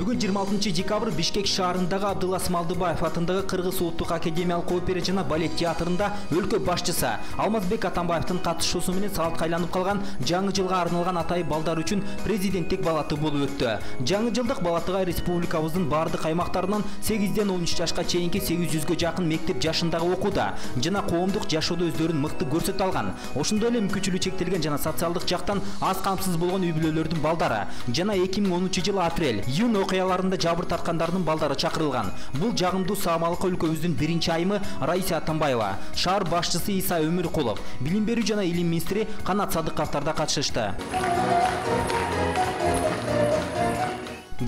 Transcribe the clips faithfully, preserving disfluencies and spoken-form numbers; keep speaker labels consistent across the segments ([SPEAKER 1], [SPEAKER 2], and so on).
[SPEAKER 1] Бүгүн жыйырма алтынчы декабрь Бишкек шаарындагы Абдылла Смалдыбаев атындагы Кыргыз улуттук академиялык опера жана балет театрында өлкө башчысы Алмазбек Атамбаевдин катышуусу менен саатка айланып калган жаңы жылга арналган Атай балдар үчүн президенттик балаты болуп өттү. Жаңы жылдык балатыга республикабыздын бардык аймактарынан сегизден он үч жашка чейинки сегиз жүзгө жакын мектеп жашындагы окууда жана коомдук жашоодо өздөрүн мыкты көрсөтө алган, ошондой эле мүмкүнчүлүгү чектелген жана социалдык жактан аз камсыз болгон үй бүлөлөрдүн балдары жана эки миң онунчу жылы апрель июнь окуяларында жабыр тарткандардын балдары чакырылган. Бул жагымдуу саамалыкка өлкөбүздүн биринчи айымы Раиса Атамбаева, шаар башчысы Иса Өмүркулов, билим берүү жана илим министри Канат Садыковдор да катышышты.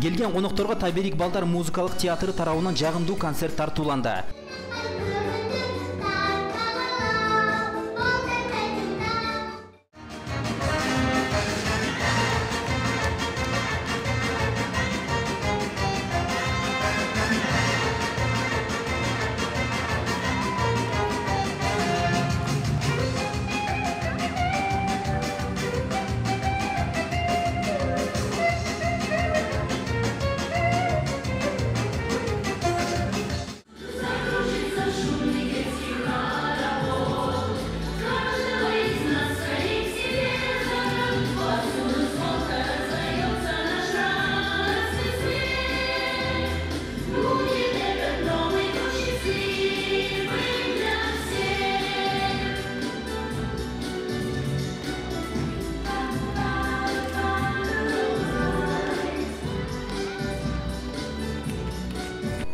[SPEAKER 1] Келген конокторго Тайберик балдар музыкалык театры тарабынан жагымдуу концерт тартууланды.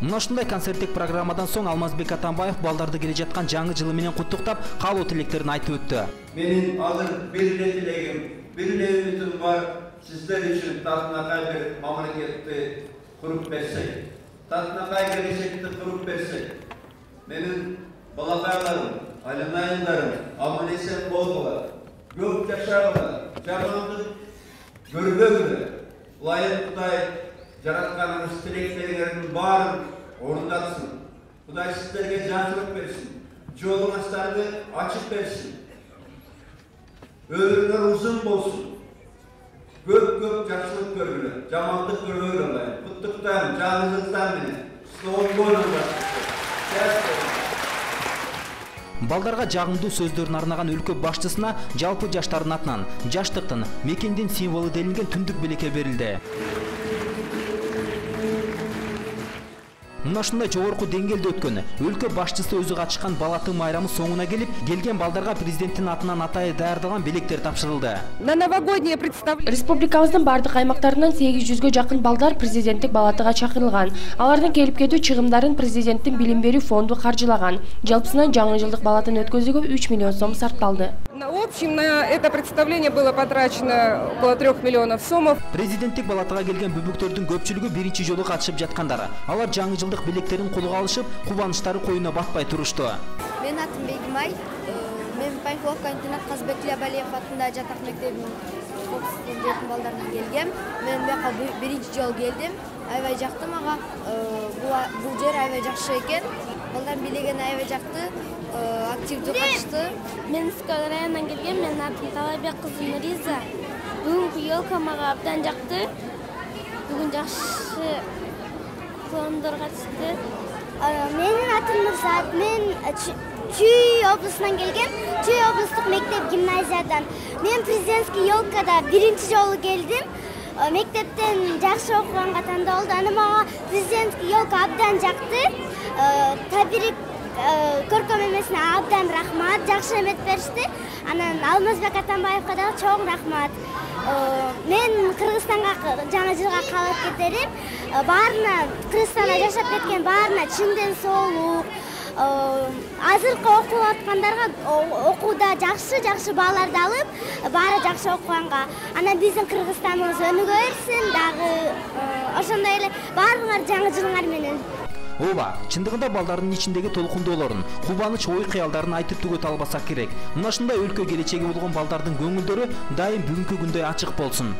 [SPEAKER 1] Мына ушундай концерттик программадан соң Алмазбек Атамбаев балдарды келе жаткан жаңы жылы менен куттуктап, каалоо тилектерин айтып өттү.
[SPEAKER 2] Менин азыр бир эле тилегим, бир эле үмүтүм бар, сиздер үчүн татынакай бир мамлекетти куруп берсек, татынакай келечекти куруп берсек, менин балакайларым, айланайындарым аман-эсен болгула, көп жашагыла, жамандык көрбөгүлө, ылайык Кудай жаратканыбыз тилектериңердин баарын орундатсын. Кудай сиздерге жакшылык берсин, жолуңуздарды ачып берсин. Өмүрүңөр узун болсун. Көп-көп жакшылык көргүлө, жамандык көрбөгүлө. Куттуктайм, жаңылыктар менен. Сау болуңдар.
[SPEAKER 1] Балдарга жагымдуу сөздөрүн арнаган өлкө башчысына жалпы жаштардын атынан жаштыктын, мекендин символу делинген түндүк белекке берилди. Мына ушундай жогорку деңгээлде өткөн өлкө башчысы өзү катышкан балаты майрамы соңуна келип, келген балдарга президенттин атынан Атайы даярдалган белектер тапшырылды.
[SPEAKER 3] На новогоднее представление
[SPEAKER 4] республикабыздын бардык аймактарынан сегиз жүзгө жакын балдар президенттик балатыга чакырылган. Алардын келип кетүү чыгымдарын президенттин билим берүү фонду каржылаган. Жалпысынан жаңы жылдык балатын өткөзүүгө үч миллион сом сарпталды.
[SPEAKER 3] В общем, на это представление было потрачено около трёх миллионов сомов.
[SPEAKER 1] Президенттик балатыга келген бүбүктөрдүн көпчүлүгү биринчи жолу катышып жаткандар. Алар жаңы жылдык билектерин колуга алышып, кубанычтары коюна батпай турушту.
[SPEAKER 5] Мен атым Бегимай, мен Панфиловка интернат Казбек Лябалиев атындагы жатак мектебинин окуучусунун балдарынан келгем. Мен буяка биринчи жолу келдим. Аябай жакты мага. Бул жер аябай жакшы экен. Балдар билеген аябай жакты, активдүү катышты.
[SPEAKER 6] Мен Скал районунан келгем. Менин атым Талайбек кызы Нуриза. Бүгүнкү елка мага абдан жакты. Бүгүн жакшы коомдор катышты.
[SPEAKER 7] Менин атым Нурсаат. Мен Чүй облусунан келгем. Чүй облустук мектеп гимназиядан. Мен президентский елкада биринчи жолу келдим. Мектептен жакшы окуганга тандалды. Аны мага президентский елка абдан жакты. Табирик көркөм эмесине абдан рахмат, жакшы эмет беришти. Анан Алмазбек Атамбаевга дагы чоң рахмат. Мен Кыргызстанга жаңы жылга каалап кетерим. Баарына, Кыргызстанда жашап кеткен баарына чындын соолук. Азыркы окуп аткандарга окууда жакшы-жакшы бааларды алып, баары жакшы окуганга. Анан биздин Кыргызстаныбыз өнүгө берсин, дагы ошондой эле баарыңар жаңы жылыңар менен.
[SPEAKER 1] Ооба, чындыгында балдардын ичиндеги толкундоолорун, кубаныч ой кыялдарын айтып түгөтө албасак керек. Мына ушундай өлкө келечеги болгон балдардын көңүлдөрү дайым бүгүнкү күндөй ачык болсун.